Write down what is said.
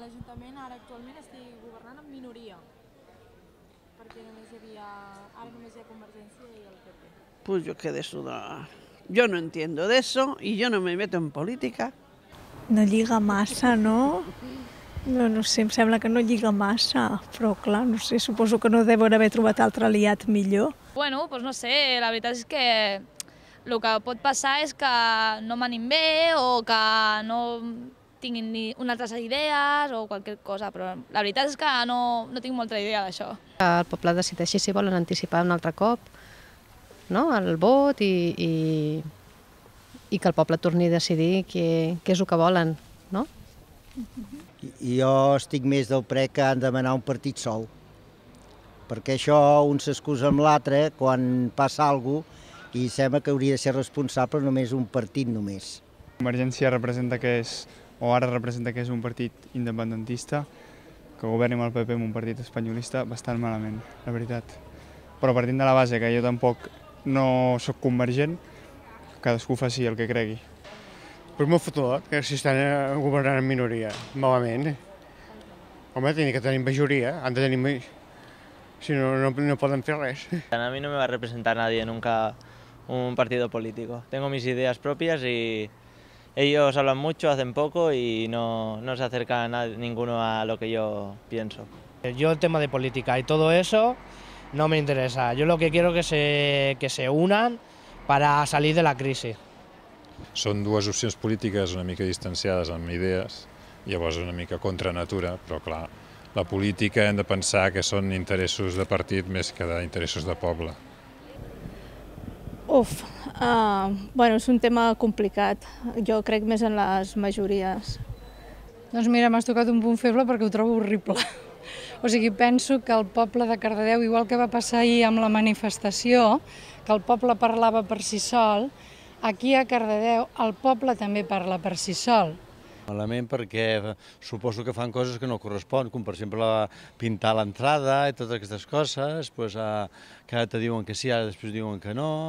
l'Ajuntament ara actualment estigui governant en minoria, perquè ara només hi ha Convergència i el PP. Pues yo qué de eso, yo no entiendo de eso y yo no me meto en política. No lliga massa, no? No sé, em sembla que no lliga massa, però clar, no sé, suposo que no deuen haver trobat altre aliat millor. Bueno, doncs no sé, la veritat és que el que pot passar és que no manin bé o que no tinguin ni unes altres idees o qualsevol cosa, però la veritat és que no tinc molta idea d'això. El poble decideixi si volen anticipar un altre cop, no?, el vot i que el poble torni a decidir què és el que volen, no? Jo estic més del pre que han de demanar un partit sol, perquè això un s'excusa amb l'altre quan passa alguna cosa i sembla que hauria de ser responsable només un partit només. Convergència representa que és, o ara representa que és un partit independentista, que governi amb el PP amb un partit espanyolista bastant malament, la veritat. Però partint de la base que jo tampoc no sóc convergent, cadascú faci el que cregui. Pues molt fotut, que si estan governant en minoria, malament. Home, tenen que tenir majoria, han de tenir... Si no, no poden fer res. A mí no me va a representar nadie nunca un partido político. Tengo mis ideas propias y ellos hablan mucho, hacen poco y no se acerca ninguno a lo que yo pienso. Yo el tema de política y todo eso no me interesa. Yo lo que quiero es que se unan para salir de la crisis. Són dues opcions polítiques una mica distanciades amb idees, llavors una mica contra natura, però clar, la política hem de pensar que són interessos de partit més que d'interessos de poble. Bueno, és un tema complicat. Jo crec més en les majories. Doncs mira, m'has tocat un punt feble perquè ho trobo horrible. O sigui, penso que el poble de Cardedeu, igual que va passar ahir amb la manifestació, que el poble parlava per si sol, aquí a Cardedeu el poble també parla per si sol. Malament perquè suposo que fan coses que no correspon, com per exemple pintar l'entrada i totes aquestes coses, que ara te diuen que sí, ara després diuen que no.